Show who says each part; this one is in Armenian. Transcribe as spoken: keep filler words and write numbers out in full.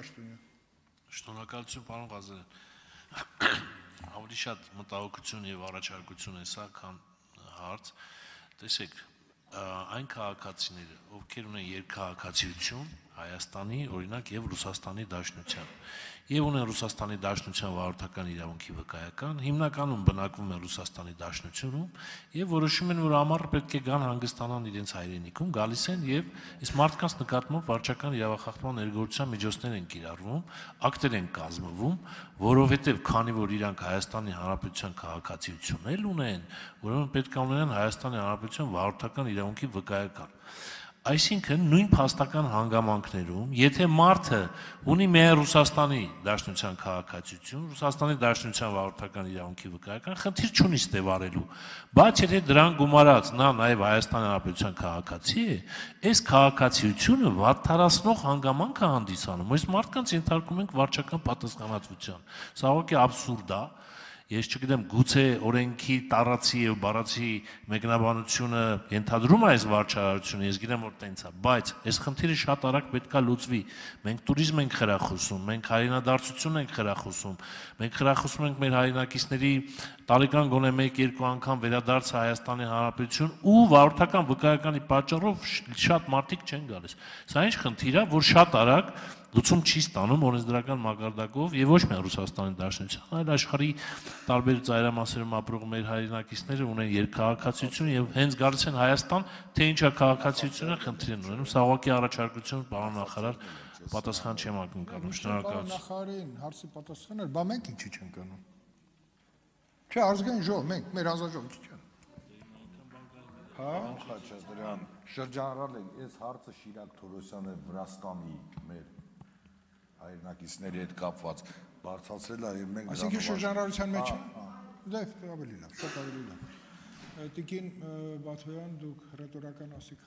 Speaker 1: Պաշտոնյան։
Speaker 2: Շնորհակալություն, պարոն Ղազարյան։ Ավելի շատ մտահոգություն եւ առաջարկություն է սա, քան հարց։ Տեսեք, այն քաղաքացիները, ովքեր ունեն երկքաղաքացիություն Հայաստանի, օրինակ, եւ Ռուսաստանի Դաշնության, եւ ունեն Ռուսաստանի Դաշնության վարորդական իրավունքի վկայական, հիմնականում բնակվում են Ռուսաստանի Դաշնությունում եւ որոշում են, որ ամառը պետք է գան հանգստանան իրենց հայրենիքում, գալիս են եւ այս մարդկանց նկատմամբ վարչական իրավախախտման ներգործության միջոցներ են կիրառվում, ակտեր են կազմվում, որովհետեւ քանի որ իրանք Հայաստանի Հանրապետության քաղաքացիություն էլ ունեն, ուրեմն պետք է ունենան Հայաստանի Հանրապետության վարորդական իրավունքի վկայական։ Այսինքն նույն փաստական հանգամանքներում, եթե մարդը ունի միայն Ռուսաստանի Դաշնության քաղաքացիություն, Ռուսաստանի Դաշնության վարորդական իրավունքի վկայական, խնդիր չունի ստեվարելու, բայց եթե դրան գումարած նա նաև Հայաստանի Հանրապետության քաղաքացի է, այս քաղաքացիությունը վատթարացնող հանգամանք է հանդիսանում, այս մարդկանց ենթարկում ենք վարչական պատասխանատվության։ Սա ուղղակի աբսուրդ է։ Ես չգիտեմ, գուցե օրենքի տարածի եւ բառացի մեկնաբանությունը ենթադրում է այս վարչարարությունը, ես գիտեմ, որ տենց է, բայց այս խնդիրը շատ արագ պետքա լուծվի։ Մենք туриզմ ենք խրախուսում, մենք հայրենադարձություն ենք խրախուսում, մենք խրախուսում ենք մեր հայրենակիցների տարեկան գոնե մեկ-երկու անգամ վերադարձը Հայաստանի Հանրապետություն ու վարորդական վկայականի պատճառով շատ մարդիկ չեն գալիս։ Սա ինչ խնդիր է, որ շատ արագ լուծում չի ստանում օրենսդրական մակարդակով եւ ոչ միայն Ռուսաստանի Դաշնության, այլ աշխարհի տարբեր ծայրամասերում ապրող մեր հայրենակիցները ունեն երկքաղաքացիություն եւ հենց գալիս են Հայաստան, թե ինչա քաղաքացիությունը խնդիր են ունենում։ Սա ուղղակի առաջարկություն, պարոն նախարար, պատասխան չեմ ակնկալում։ Շնորհակալություն։
Speaker 1: Նախարարին հարցի պատասխանել, բա մենք ինչի չենք անում։ Չէ, ազգային ժողով, մենք մեր հանձնաժողովը չի անում։ Հա,
Speaker 3: Խաչատրյան, շրջանառալ են, այս հարցը Շիրակ Թորոսյանը Վրաստանի մեր հայրենակիցների հետ կապված բարձրացրել է եւ մենք
Speaker 1: այսինքն շրջանառության մեջ է։ Դե ավելի լավ, շատ ավելի լավ։ Տիկին Բաթոյան, դուք հռետորական ասիք